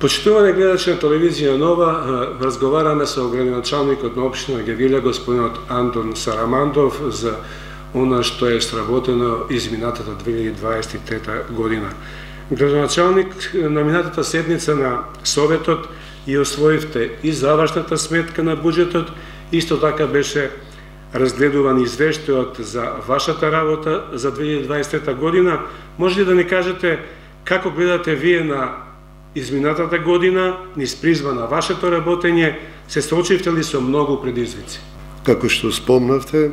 Почитувани гледачи на телевизија Нова, разговараме со градоначалникот на општина Гевгелија, господинот Антон Сарамандов, за она што е сработено изминатата 2023 година. Градоначалник, на минатата седница на Советот и освоивте и завршната сметка на буџетот, исто така беше разгледуван извештајот за вашата работа за 2023 година. Може ли да ни кажете како гледате вие на изминатата година, низ призма на вашето работење, се соочивте ли со многу предизвици? Како што спомнавте,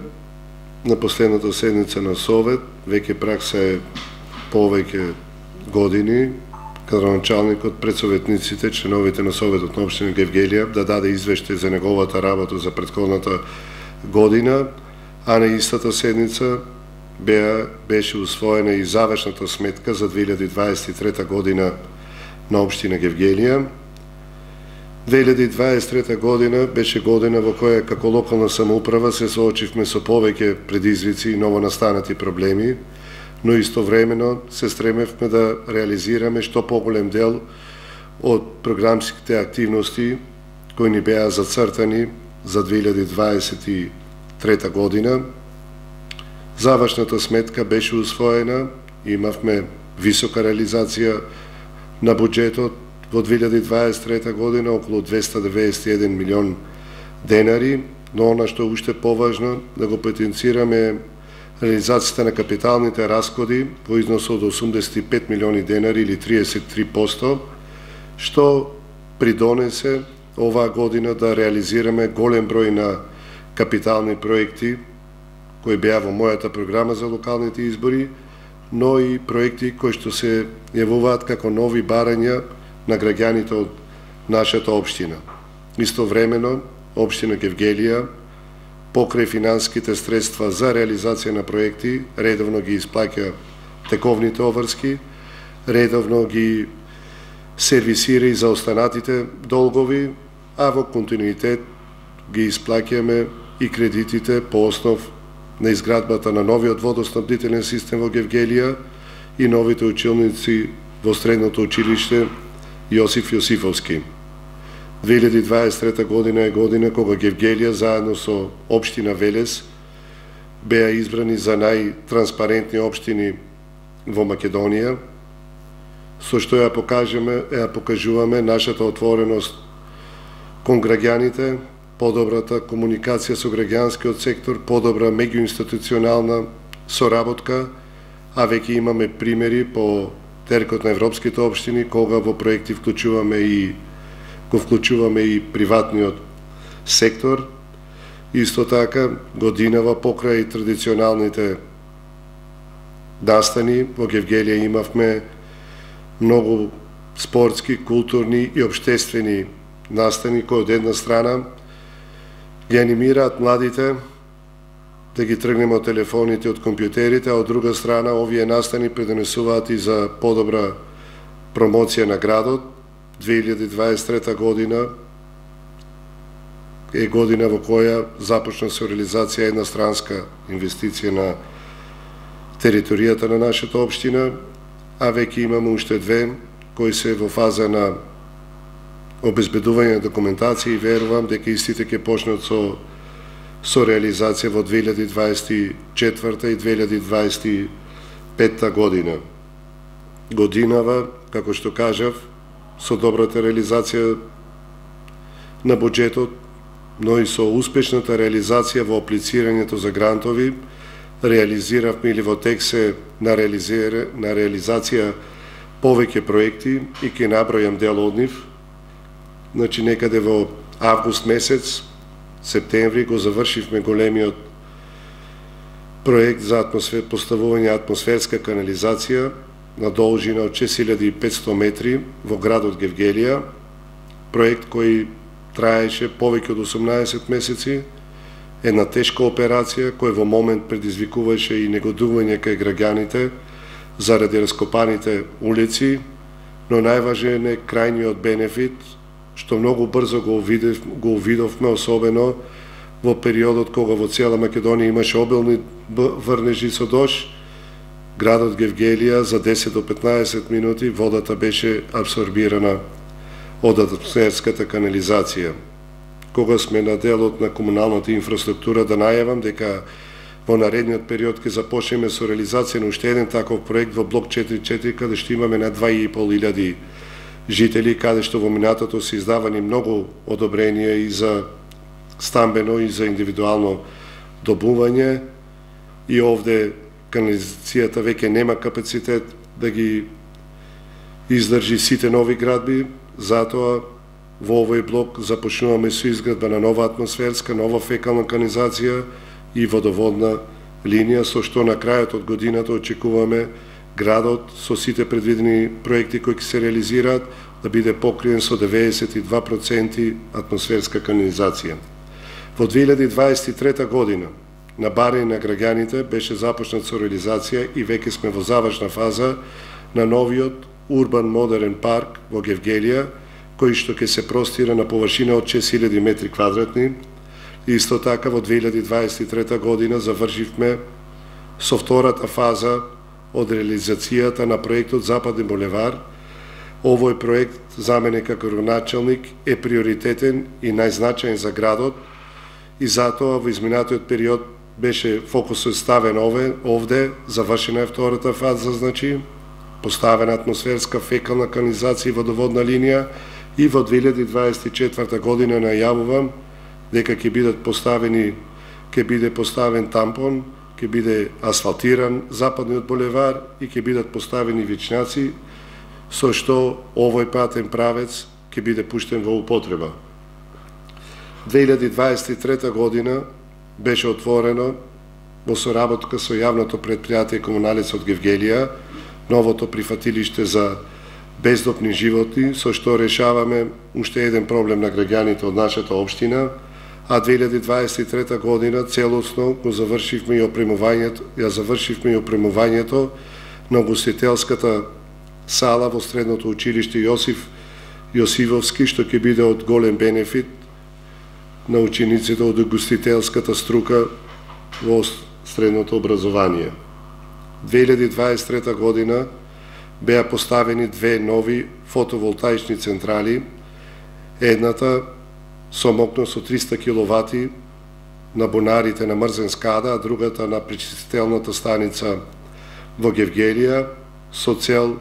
на последната седница на Совет, веќе пракса е повеќе години, градоначалникот пред советниците, членовите на Советот на општина Гевгелија, да даде извештај за неговата работа за претходната година, а на истата седница беше усвоена и завршната сметка за 2023 година на општина Гевгелија. 2023 година беше година во која како локална самоуправа се соочивме со повеќе предизвици и новонастанати проблеми, но истовремено се стремевме да реализираме што поголем дел од програмските активности кои ни беа зацртани за 2023 година. Завршната сметка беше усвоена, имавме висока реализација на буџетот во 2023 година, околу 291 милион денари, но она што уште поважно, да го потенцираме реализацијата на капиталните расходи во износ од 85 милиони денари или 33%, што придонесе оваа година да реализираме голем број на капитални проекти кои беа во мојата програма за локалните избори, но и проекти кои што се јавуваат како нови барања на граѓаните од нашата општина. Истовремено, општина Гевгелија, покрај финансиските средства за реализација на проекти, редовно ги исплаќа тековните обврски, редовно ги сервисира и за останатите долгови, а во континуитет ги исплаќаме и кредитите по основ на изградбата на новиот водоснабдителен систем во Гевгелија и новите училници во средното училиште Јосиф Јосифовски. 2023 година е година кога Гевгелија заедно со општина Велес беа избрани за најтранспарентни општини во Македонија, со што ја покажуваме нашата отвореност кон граѓаните, подобрата комуникација со граѓанскиот сектор, подобра меѓуинституционална соработка, а веќе имаме примери по теркот на европските општини, кога во проекти го вклучуваме и приватниот сектор. Исто така, годинава покрај традиционалните настани, во Гевгелија имавме многу спортски, културни и обштествени настани, кои од една страна ги анимираат младите да ги тргнеме од телефоните, од компјутерите, а од друга страна овие настани придонесуваат и за подобра промоција на градот. 2023 година е година во која започна со реализација едностранска инвестиција на територијата на нашата општина, а веќе имаме уште две кои се во фаза на обезбедување на документација и верувам дека истите ќе почнат со реализација во 2024 и 2025 година. Годинава, како што кажав, со добрата реализација на буџетот, но и со успешната реализација во аплицирањето за грантови, реализиравме или во тек се на реализација повеќе проекти и ќе набројам дел од нив. Значи, некаде во август месец, септември, го завршивме големиот проект за поставување атмосферска канализација на должина од 6500 метри во градот Гевгелија, проект кој траеше повеќе од 18 месеци, една тешка операција која во момент предизвикуваше и негодување кај граѓаните заради раскопаните улици, но најважен е крајниот бенефит, што многу брзо го увидовме, особено во периодот кога во цела Македонија имаше обилни врнежи со дожд. Градот Гевгелија за 10 до 15 минути водата беше абсорбирана од атмосферската канализација. Кога сме на делот на комуналната инфраструктура, да најавам дека во наредниот период ќе започнеме со реализација на уште еден таков проект во блок 4.4, каде што имаме на 2.500 жители, каде што во минатото се издавани многу одобренија и за стамбено и за индивидуално добување, и овде канализацијата веќе нема капацитет да ги издржи сите нови градби, затоа во овој блок започнуваме со изградба на нова атмосферска, нова фекална канализација и водоводна линија, со што на крајот од годината очекуваме градот со сите предвидени проекти кои ќе се реализираат да биде покриен со 92% атмосферска канализација. Во 2023 година на барање на граѓаните беше започнат со реализација и веќе сме во завршна фаза на новиот урбан модерен парк во Гевгелија, кој што ќе се простира на површина од 6000 метри квадратни. Исто така во 2023 година завршивме со втората фаза од реализацијата на проектот Западен булевар. Овој проект за мене како градоначалник е приоритетен и најзначаен за градот, и затоа во изминатиот период беше фокусот ставен овде, завршена е втората фаза, значи поставена атмосферска фекална канализација и водоводна линија, и во 2024 година најавувам дека ќе биде поставен тампон, ќе биде асфалтиран Западниот булевар и ќе бидат поставени вичњаци, со што овој патен правец ќе биде пуштен во употреба. 2023 година беше отворено во соработка со јавното предпријатие Комуналец од Гевгелија новото прифатилиште за бездопни животни, со што решаваме уште еден проблем на граѓаните од нашата општина, а 2023 година целосно го завршивме и опремувањето на ugostителската сала во средното училиште Јосиф Јосифовски, што ќе биде од голем бенефит на учениците од ugostителската струка во средното образование. 2023 година беа поставени две нови фотоволтаични централи, едната со мокност од 300 киловати на бунарите на Мрзен Скада, а другата на пречистителната станица во Гевгелија, со цел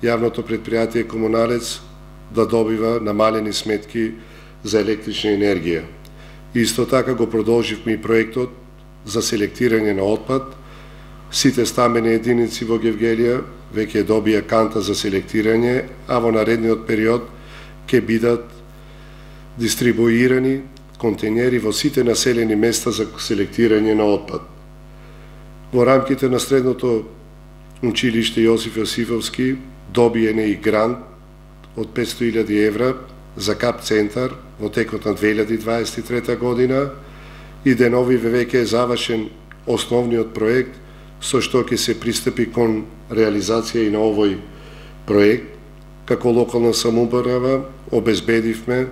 јавното предпријатие Комуналец да добива намалени сметки за електрична енергија. Исто така го продолживме и проектот за селектирање на отпад. Сите стамбени единици во Гевгелија веќе добија канта за селектирање, а во наредниот период ќе бидат дистрибуирани контейнери во сите населени места за селектирање на отпад. Во рамките на средното училиште Јосиф Јосифовски добиен е и грант од 500.000 евра за КАП центар во текот на 2023 година, и деновиве веќе е завршен основниот проект, со што ќе се пристапи кон реализација и на овој проект. Како локална самоуправа обезбедивме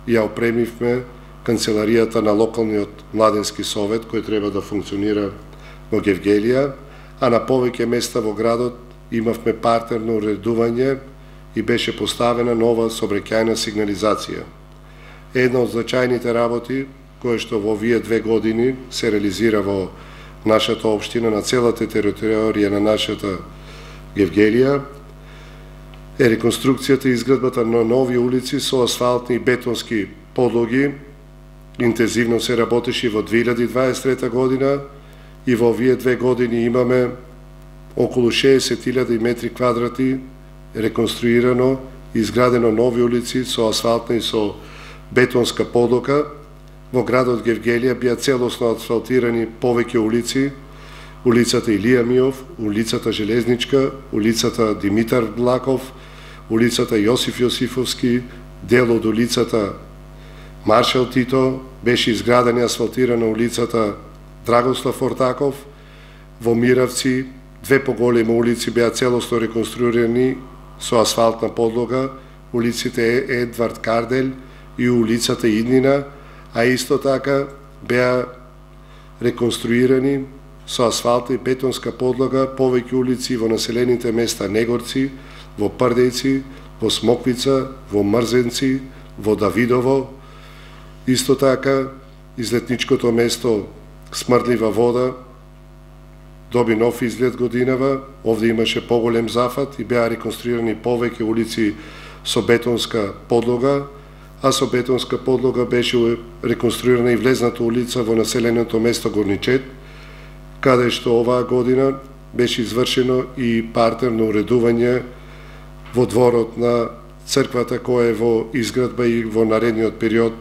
и ја опремивме канцеларијата на локалниот младенски совет, кој треба да функционира во Гевгелија, а на повеќе места во градот имавме партерно уредување и беше поставена нова сообраќајна сигнализација. Една од значајните работи, која што во овие 2 години се реализира во нашата општина, на целата територија на нашата Гевгелија, е реконструкцијата и изградбата на нови улици со асфалтни и бетонски подлоги. Интензивно се работеше во 2023 година и во овие 2 години имаме околу 60.000 метри квадратни реконструирано и изградено нови улици со асфалтна и со бетонска подлога. Во градот Гевгелија бија целосно асфалтирани повеќе улици: улицата Илија Миов, улицата Железничка, улицата Димитар Блаков, улицата Јосиф Јосифовски, дел од улицата Маршал Тито, беше изградена и асфалтирана улицата Драгослав Ортаков. Во Миравци 2 поголеми улици беа целосно реконструирани со асфалтна подлога, улиците Едвард Кардель и улицата Иднина, а исто така беа реконструирани со асфалта и бетонска подлога повеќе улици во населените места Негорци, во Прдејци, во Смоквица, во Мрзенци, во Давидово. Исто така, излетничкото место Смрдлива вода доби нов изглед годинава. Овде имаше поголем зафат и беа реконструирани повеќе улици со бетонска подлога, а со бетонска подлога беше реконструирана и влезната улица во населеното место Горничет, каде што оваа година беше извршено и партерно уредување во дворот на црквата која е во изградба и во наредниот период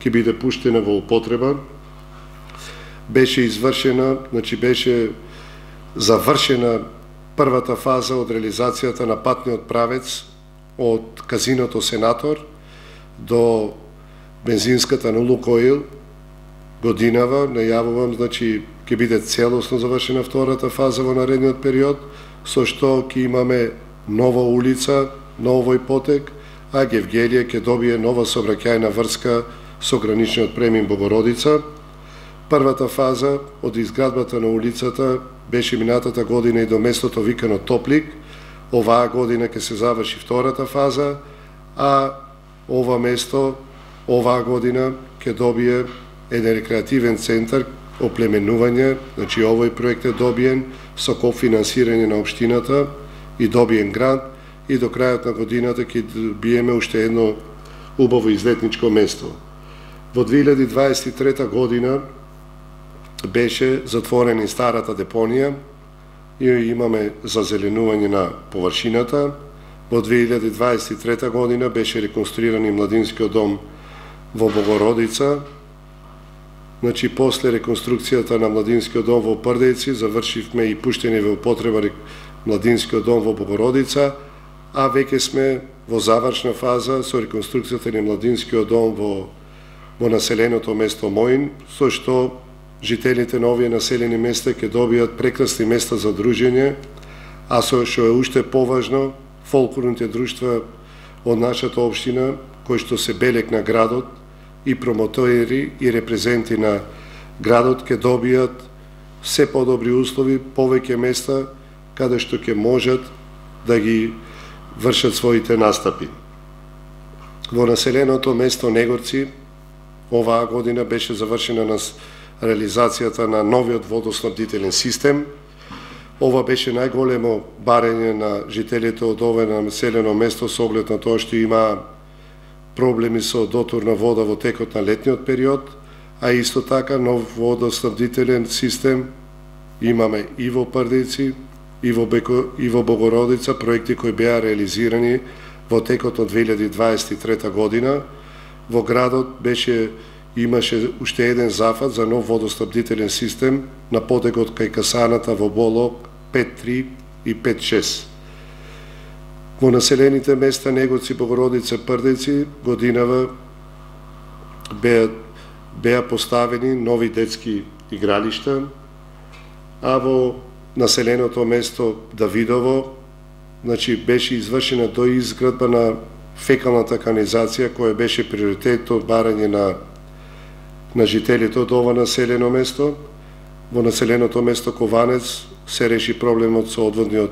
ќе биде пуштена во употреба. Беше извршена, беше завршена првата фаза од реализацијата на патниот правец од казиното Сенатор до бензинската на Лукоил. Годинава најавувам, ќе биде целосно завршена втората фаза во наредниот период, со што ќе имаме нова улица, новој потек, а Гевгелија ќе добие нова сообраќајна врска со граничниот премин Богородица. Првата фаза од изградбата на улицата беше минатата година и до местото викано Топлик. Оваа година ќе се заврши втората фаза, а ова место оваа година ќе добие еден рекреативен центар, оплеменување, овој проект е добиен со кофинансирање на општината и добиен грант, и до крајот на годината ќе добиеме уште едно убаво излетничко место. Во 2023 година беше затворена и старата депонија и имаме зазеленување на површината. Во 2023 година беше реконструиран и младинскиот дом во Богородица. После реконструкцијата на младинскиот дом во Прдејци завршивме и пуштење во употреба младинскиот дом во Богородица, а веќе сме во завршна фаза со реконструкцијата на младинскиот дом во населеното место Моин, со што жителите на овие населени места ќе добијат прекрасни места за дружење, а со што е уште поважно, фолклорните друштва од нашата општина, кои што се белег на градот и промотори и репрезенти на градот, ќе добијат се подобри услови, повеќе места каде што ќе можат да ги вршат своите настапи. Во населеното место Негорци оваа година беше завршена на реализацијата на новиот водоснабдителен систем. Ова беше најголемо барење на жителите од ова населено место со оглед на тоа што има проблеми со дотурна вода во текот на летниот период, а исто така нов водоснабдителен систем имаме и во Прдејци, и во Богородица, проекти кои беа реализирани во текот од 2023 година. Во градот имаше уште еден зафат за нов водоснабдителен систем на потекот кај касаната во Болок 5.3 и 5.6. Во населените места Негоци, Богородица, Прдејци годинава беа поставени нови детски игралишта, а во населеното место Давидово беше извршена доизградба на фекалната канализација, која беше приоритет од барање на жителите од ова населено место. Во населеното место Кованец се реши проблемот со одводниот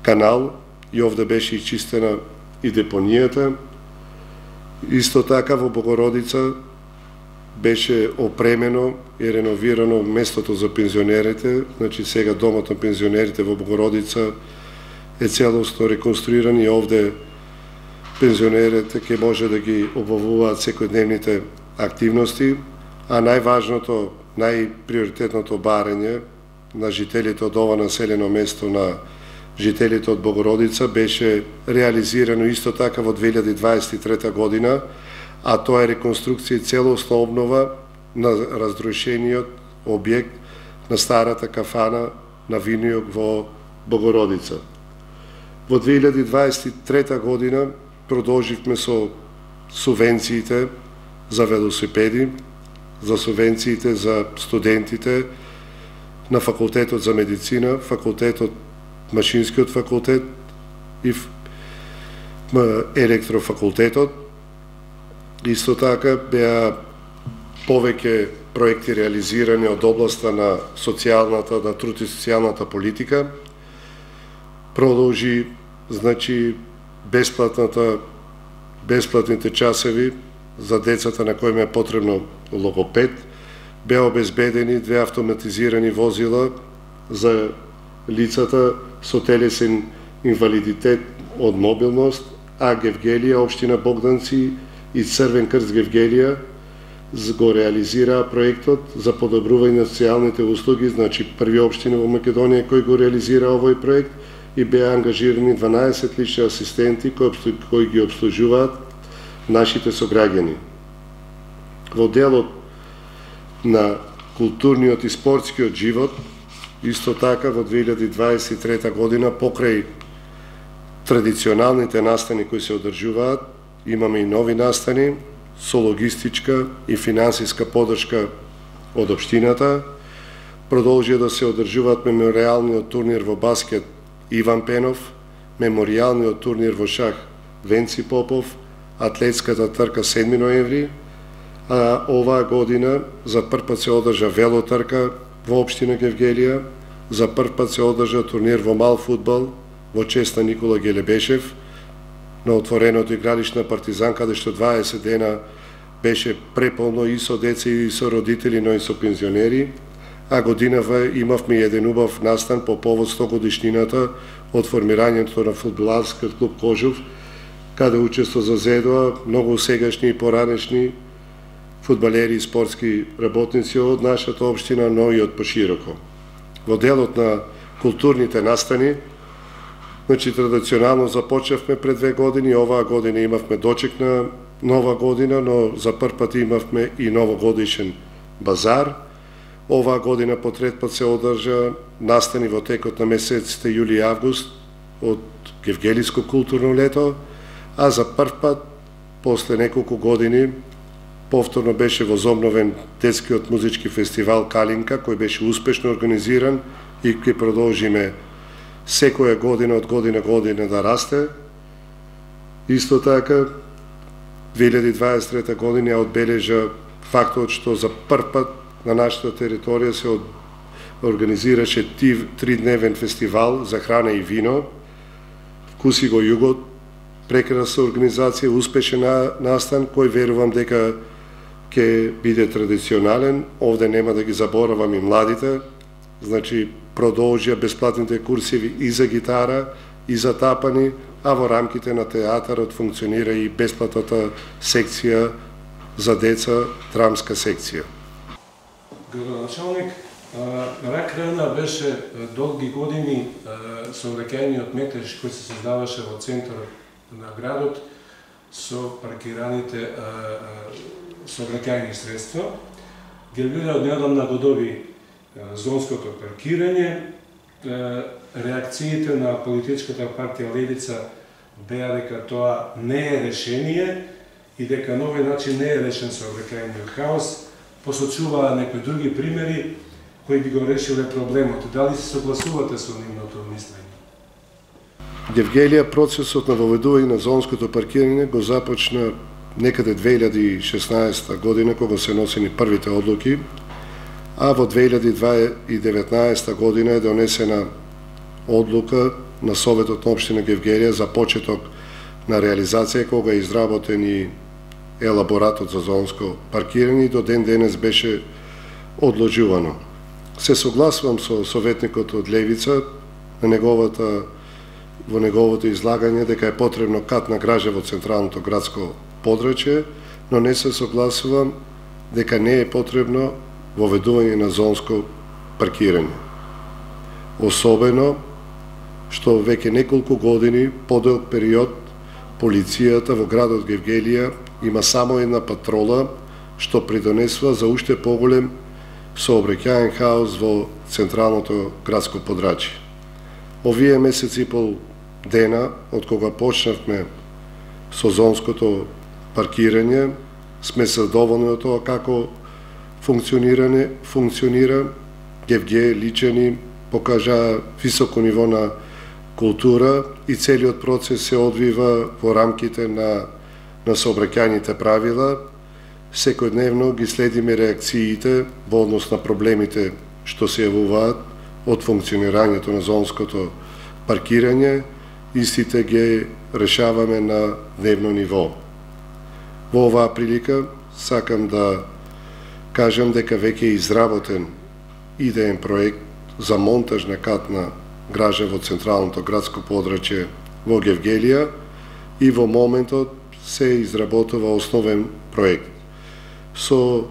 канал и овде беше и чистена и депонијата. Исто така во Богородица беше опремено и реновирано местото за пензионерите, сега домот на пензионерите во Богородица е целосно реконструиран и овде пензионерите ќе може да ги обавуваат секојдневните активности, а најважното, најприоритетното барање на жителите од ова населено место, на жителите од Богородица, беше реализирано исто така во 2023 година, а тоа е реконструкција и целосна обнова на разрушениот објект на старата кафана на Винијок во Богородица. Во 2023 година продолживме со субвенциите за велосипеди, за субвенциите за студентите на факултетот за медицина, факултетот, машинскиот факултет и електрофакултетот. Исто така беа повеќе проекти реализирани од областа на социјалната, на труд и социјалната политика. Продолжи, бесплатните часови за децата на кои е потребно логопед, беа обезбедени 2 автоматизирани возила за лицата со телесен инвалидитет од мобилност, а Гевгелија, општина Богданци и Црвен крст Гевгелија го реализираа проектот за подобрување на социјалните услуги, значи први општина во Македонија кој го реализира овој проект и беа ангажирани 12 лични асистенти кои ги обслужуваат нашите сограѓани. Во делот на културниот и спортскиот живот, исто така во 2023 година, покрај традиционалните настани кои се одржуваат, имаме и нови настани со логистичка и финансиска подршка од општината. Продолжија да се одржуваат меморијалниот турнир во баскет Иван Пенов, меморијалниот турнир во шах Венци Попов, атлетската трка 7 ноември, а оваа година за прв пат се одржа велотрка во општина Гевгелија, за прв пат се одржа турнир во мал фудбал во чест на Никола Гелебешев на отвореното игралиште на Партизан, каде што 20 дена беше преполно и со деца и со родители, но и со пензионери, а годинава имавме еден убав настан по повод 100 годишнината од формирањето на фудбаларскиот клуб Кожув, каде учество зазедоа многу сегашни и поранешни фудбалери и спортски работници од нашата општина, но и од пошироко. Во делот на културните настани, значи традиционално започнавме пред 2 години, оваа година имавме дочек на нова година, но за прв пат имавме и новогодишен базар. Оваа година по трет пат се одржа настани во текот на месеците јули и август од Гевгелиско културно лето, а за прв пат, после неколку години, повторно беше возобновен детскиот музички фестивал Калинка, кој беше успешно организиран и ќе продолжиме секоја година од година да расте. Исто така, 2023 година одбележа фактот што за прв пат на нашата територија се организираше 3-дневен фестивал за храна и вино. Вкуси го југот, прекрасна организација, успешен настан, кој верувам дека ќе биде традиционален. Овде нема да ги заборавам и младите, значи продолжија бесплатните курсиви и за гитара, и за тапани, а во рамките на театарот функционира и бесплатната секција за деца, драмска секција. Градоначалник, рак рана беше долги години сообраќајниот метеж кој се создаваше во центарот на градот со паркираните сообраќајни средства. Гевгелија однедамна го доби зонското паркирање. Реакциите на политичката партија Левица беа дека тоа не е решение и дека на овој начин не е решен сообраќајниот хаос. Посочуваа некои други примери кои би го решиле проблемот. Дали се согласувате со нивното мислење? Гевгелија процесот на воведување на зонското паркирање го започна некаде 2016 година, кога се носени првите одлуки, а во 2019 година е донесена одлука на Советот на општина Гевгелија за почеток на реализација, кога е изработен и елаборатот за зонско паркирање и до ден денес беше одложувано. Се согласувам со советникот од Левица во неговото излагање дека е потребно кат на гража во централното градско подрачје, но не се согласувам дека не е потребно воведување на зонско паркирање. Особено што веќе неколку години, подолг период, полицијата во градот Гевгелија има само една патрола што придонесува за уште поголем сообраќаен хаос во централното градско подрачје. Овие месеци и пол дена, од кога почнавме со зонското паркирање, сме задоволни од тоа како функционира. Гевге личени покажа високо ниво на култура и целиот процес се одвива во рамките на сообраќајните правила. Секојдневно ги следиме реакциите во однос на проблемите што се јавуваат од функционирањето на зонското паркирање истите ги решаваме на дневно ниво. Во оваа прилика сакам да кажам дека веќе е изработен идеен проект за монтаж на катна гража во централното градско подрачје во Гевгелија и во моментот се изработува основен проект со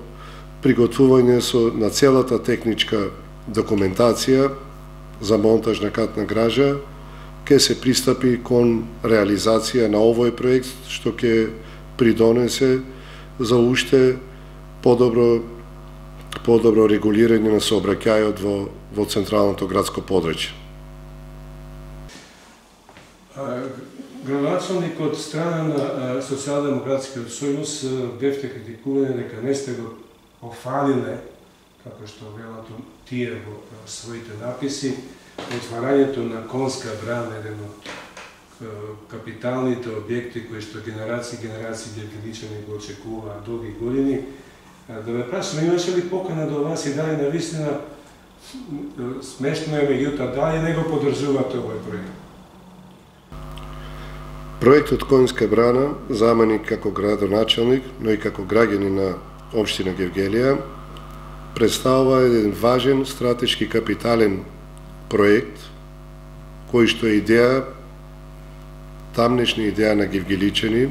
приготвување на целата техничка документација за монтаж на катна гража. Ке се пристапи кон реализација на овој проект, што ќе придонесе за уште подобро регулирање на сообраќајот во централното градско подрачје. Градоначалникот од страна на Социјалдемократскиот сојуз бевте критикувани дека не сте го офалиле, како што велат тие во своите написи, отварањето на Конска брана, еден од капиталните објекти кои што генерации гевгеличани го очекуваат долги години. Да ве прашам, имаше ли покана до вас и дали навистина смешно е, меѓутоа дали не го поддржувате овој проект? Проектот Конска брана, за мене како градоначалник, но и како граѓани на општина Гевгелија, представува еден важен стратешки капитален проект, кој што е идеја, тамнешна идеја на гевгеличани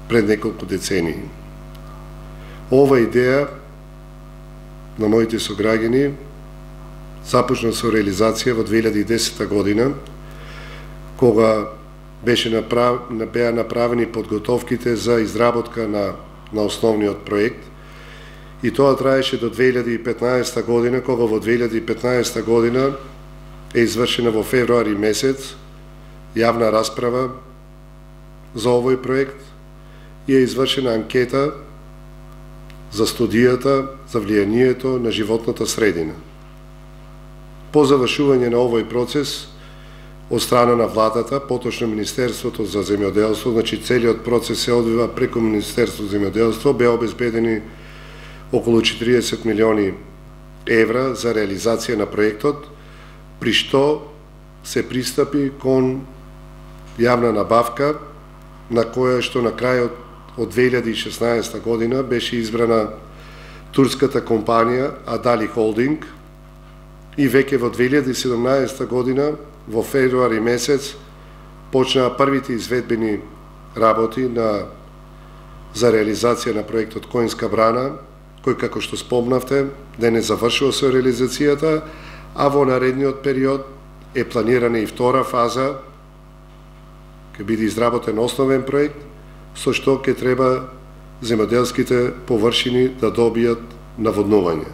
пред неколку децении. Ова идеја на моите сограѓани започна со реализација во 2010 година, кога беа направени подготовките за изработка на основниот проект, и тоа траеше до 2015 година, кога во 2015 година е извршена во февруари месец јавна расправа за овој проект и е извршена анкета за студијата за влијанието на животната средина. По завршување на овој процес од страна на владата, поточно Министерството за земјоделство, значи целиот процес се одвива преку Министерството за земјоделство, беа обезбедени околу 40 милиони евра за реализација на проектот, при што се пристапи кон јавна набавка, на која што на крајот од 2016 година беше избрана турската компанија Адали Холдинг и веќе во 2017 година во февруари месец почнаа првите изведбени работи за реализација на проектот Конска брана, кој, како што спомнавте, да не завршува со реализацијата, а во наредниот период е планирана и втора фаза, ќе биде изработен основен проект, со што ќе треба земјоделските површини да добијат наводнување.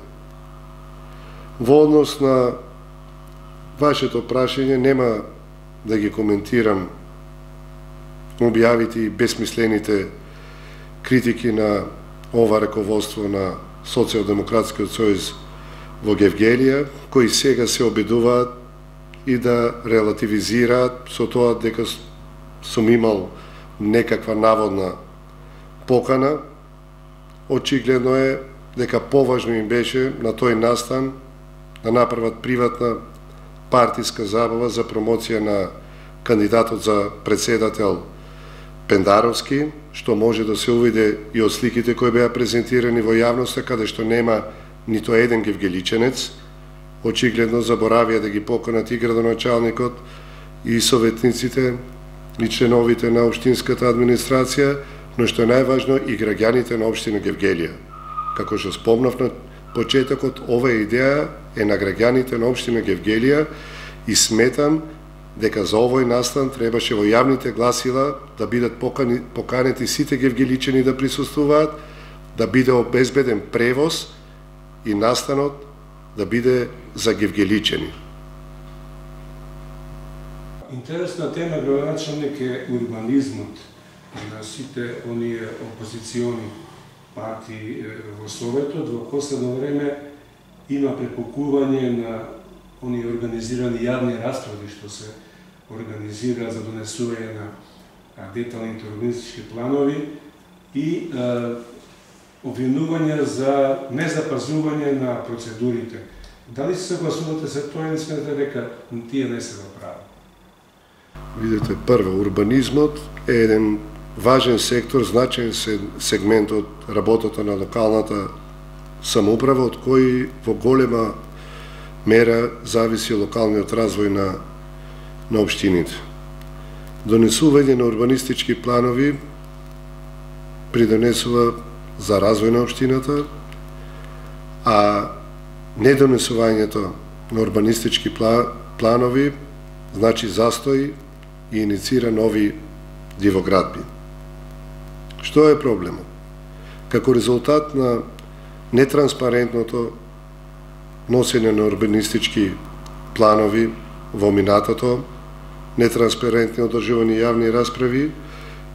Во однос на вашето прашање, нема да ги коментирам објавите и безсмислените критики на ова раководство на Социјалдемократскиот сојуз во Гевгелија, кои сега се обидуваат и да релативизираат со тоа дека сум имал некаква наводна покана. Очигледно е дека поважно им беше на тој настан да направат приватна партиска забава за промоција на кандидатот за председател Пендаровски, што може да се увиде и од сликите кои беа презентирани во јавноста, каде што нема нито еден гевгеличенец. Очигледно заборавија да ги поканат и градоначалникот, и советниците, и членовите на општинската администрација, но што е најважно и граѓаните на општина Гевгелија. Како што спомнав на почетокот, оваа идеја е на граѓаните на општина Гевгелија и сметам дека за овој настан требаше во јавните гласила да бидат поканети сите гевгеличани да присуствуваат, да биде обезбеден превоз и настанот да биде за гевгеличани. Интересна тема, градоначалник, е урбанизмот на сите оние опозициони партии во Советот. Во последно време има препокување на оние организирани јавни расправи што се организира за донесување на деталните урбанистички планови и обвинување за незапазување на процедурите. Дали се согласувате се тоа или сметате дека тие не се во право? Видете, прво, урбанизмот е еден важен сектор, значаен сегмент од работата на локалната самоуправа, од кој во голема мера зависи локалниот развој на општините. Донесување на урбанистички планови придонесува за развој на општината, а недонесувањето на урбанистички планови значи застој и иницира нови дивоградби. Што е проблемот? Како резултат на нетранспарентното носење на урбанистички планови во минатото, нетранспарентни одржувани јавни расправи,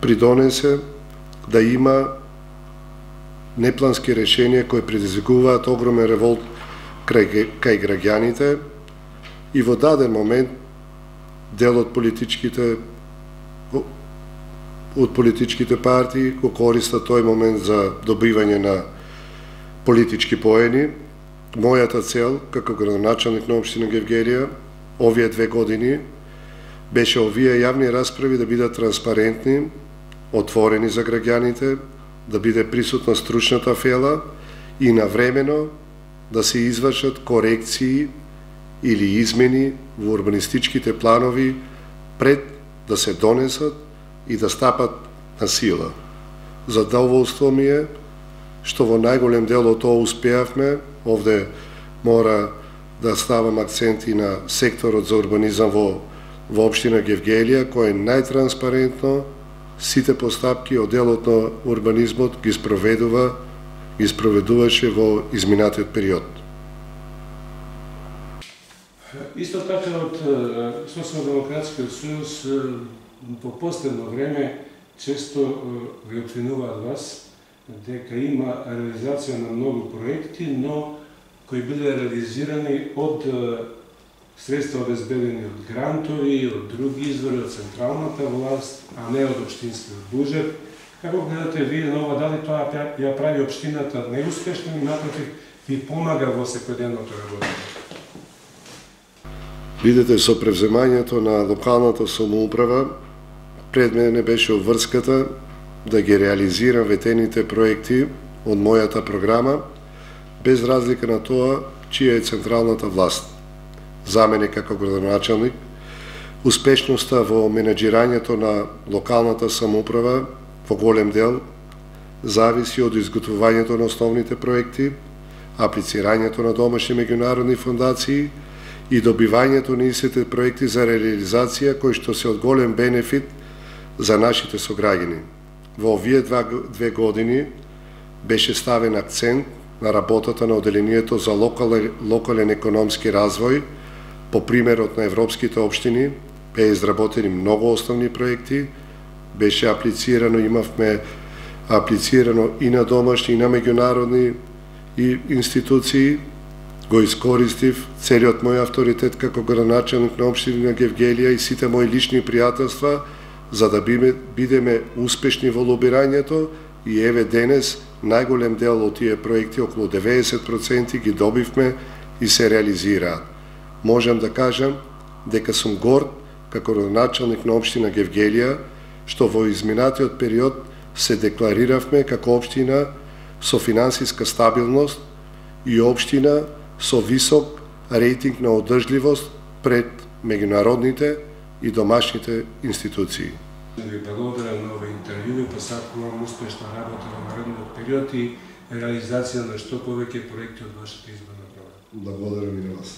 придонесе да има неплански решенија кои предизвикуваат огромен револт кај граѓаните и во даден момент дел од политичките партии го користат тој момент за добивање на политички поени. Мојата цел, како градоначалник на општина Гевгелија, овие 2 години, беше овие јавни расправи да бидат транспарентни, отворени за граѓаните, да биде присутна стручната фела и навремено да се извршат корекции или измени во урбанистичките планови пред да се донесат и да стапат на сила. Задоволство ми е што во најголем дел од тоа успеавме. Овде мора да ставам акцент и на секторот за урбанизам во општина Гевгелија, кој е најтранспарентно сите постапки од делот на урбанизмот ги спроведуваше во изминатиот период. Исто така од Социјалдемократскиот сојуз по последно време често ви обвинуваат вас дека има реализација на многу проекти, но кои биле реализирани од средства обезбедени од грантови, од други извори, од централната власт, а не од општинскиот буџет. Како гледате вие на ова, дали тоа ја прави општината неуспешна или напротив ви помага во секојдневното работење? Видете, со превземањето на локалната самоуправа, пред мене беше обврската да ги реализирам ветените проекти од мојата програма, без разлика на тоа чија е централната власт. За мене како градоначалник, успешноста во менеджирањето на локалната самоуправа во голем дел зависи од изготвувањето на основните проекти, аплицирањето на домашни меѓународни фондации и добивањето на истите проекти за реализација кои што се од голем бенефит за нашите сограѓани. Во овие 2 години беше ставен акцент на работата на Оделението за локален економски развој. По примерот на европските општини беа изработени многу основни проекти, беше имавме аплицирано и на домашни и на меѓународни институции. Го искористив целиот мој авторитет како градоначалник на општина Гевгелија и сите мои лични пријателства за да бидеме успешни во лобирањето и еве денес најголем дел од тие проекти, околу 90% ги добивме и се реализираат. Можам да кажам дека сум горд како градоначалник на општина Гевгелија што во изминатиот период се деклариравме како општина со финансиска стабилност и општина со висок рейтинг на одржливост пред меѓународните и домашните институции. Ви благодарам на ова интервју и посакувам успешна работа во наредниот период и реализација на што повеќе проекти од вашата изборна програма. Благодарам и на вас.